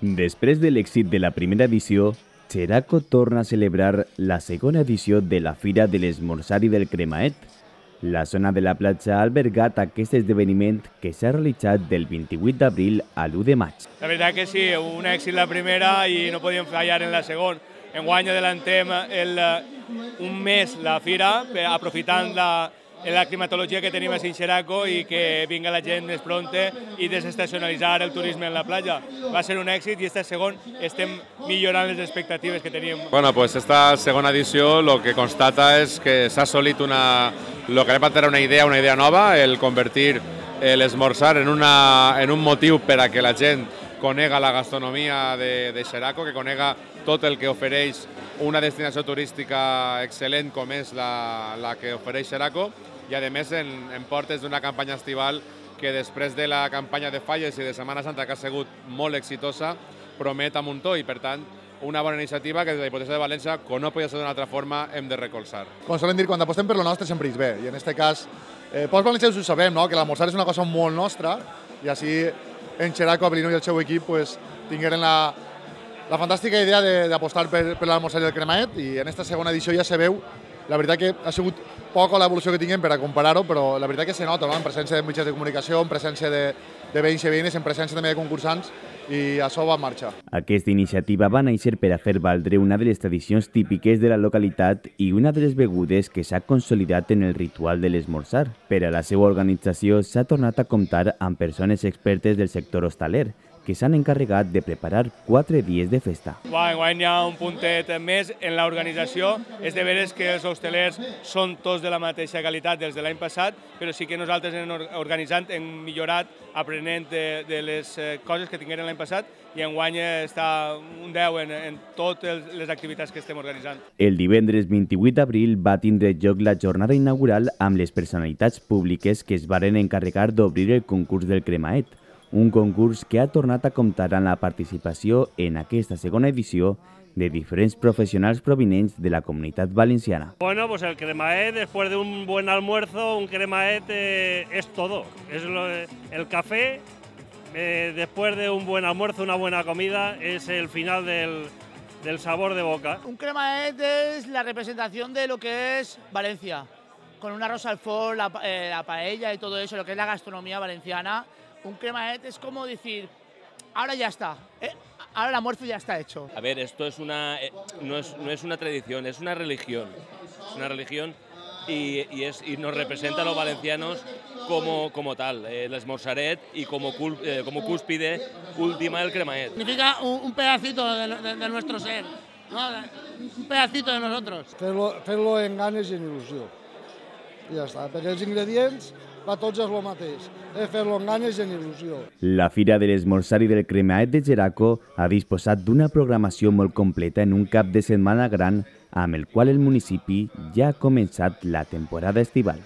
Després de l'èxit de la primera edició, Xeraco torna a celebrar la segona edició de la Fira de l'Esmorzar i del Cremaet. La zona de la platja ha albergat aquest esdeveniment que s'ha realitzat del 28 d'abril a l'1 de maig. La veritat que sí, un èxit la primera i no podíem fallar en la segona. Enguany adelantem un mes la fira, aprofitant la climatologia que tenim a Xeraco i que vinga la gent més pronta i desestacionalitzar el turisme en la platja. Va ser un èxit i este segon estem millorant les expectatives que teníem. Bueno, pues esta segona edició lo que constata és que s'ha assolit lo que anem a tenir una idea nova, el convertir l'esmorzar en un motiu per a que la gent conega la gastronomia de Xeraco, que conega tot el que ofereix una destinació turística excel·lent com és la que ofereix Xeraco, i a més en portes d'una campanya estival que després de la campanya de falles i de Setmana Santa, que ha sigut molt exitosa, promet a muntó i per tant una bona iniciativa que des de la Diputació de València, com no podia ser d'una altra forma, hem de recolzar. Com solen dir, quan apostem per lo nostre sempre és bé, i en aquest cas, pels valencians ho sabem, no? Que l'almorzar és una cosa molt nostra, i així en Xeraco, Abelino i el seu equip tingueren la fantàstica idea d'apostar per l'almorzar i el cremaet, i en aquesta segona edició ja se veu, la veritat que ha sigut poca l'evolució que tinguem per a comparar-ho, però la veritat que se nota, no? En presència de mitjans de comunicació, en presència de veïns i veïnes, en presència també de concursants, i això va en marxa. Aquesta iniciativa va néixer per a fer valdre una de les tradicions típiques de la localitat i una de les begudes que s'ha consolidat en el ritual de l'esmorzar. Per a la seva organització s'ha tornat a comptar amb persones expertes del sector hostaler, que s'han encarregat de preparar 4 dies de festa. Enguany hi ha un puntet més en l'organització. És de veres que els hostelers són tots de la mateixa qualitat dels de l'any passat, però sí que nosaltres organitzant hem millorat aprenent de les coses que tingueren l'any passat i enguany està un 10 en totes les activitats que estem organitzant. El divendres 28 d'abril va tindre lloc la jornada inaugural amb les personalitats públiques que es varen encarregar d'obrir el concurs del Cremaet, un concurs que ha tornat a comptar amb la participació en aquesta segona edició de diferents profesionals provinents de la Comunitat Valenciana. Bueno, pues el cremaet, después de un buen almuerzo, un cremaet es todo. Es el café, después de un buen almuerzo, una buena comida, es el final del sabor de boca. Un cremaet es la representación de lo que es Valencia, con un arroz al forn, la paella y todo eso, lo que es la gastronomía valenciana. Un cremaet es como decir, ahora ya está, ahora el almuerzo ya está hecho. A ver, esto es no es una tradición, es una religión. Es una religión y nos representa a los valencianos como tal, el esmorzaret y como cúspide última del cremaet. Significa un pedacito de nuestro ser, ¿no? Un pedacito de nosotros. Fer-lo en ganes i en il·lusió. I ja està, perquè els ingredients per tots és el mateix, fer-lo amb ganes i amb il·lusió. La Fira de l'Esmorzar i del Cremaet de Xeraco ha disposat d'una programació molt completa en un cap de setmana gran amb el qual el municipi ja ha començat la temporada estival.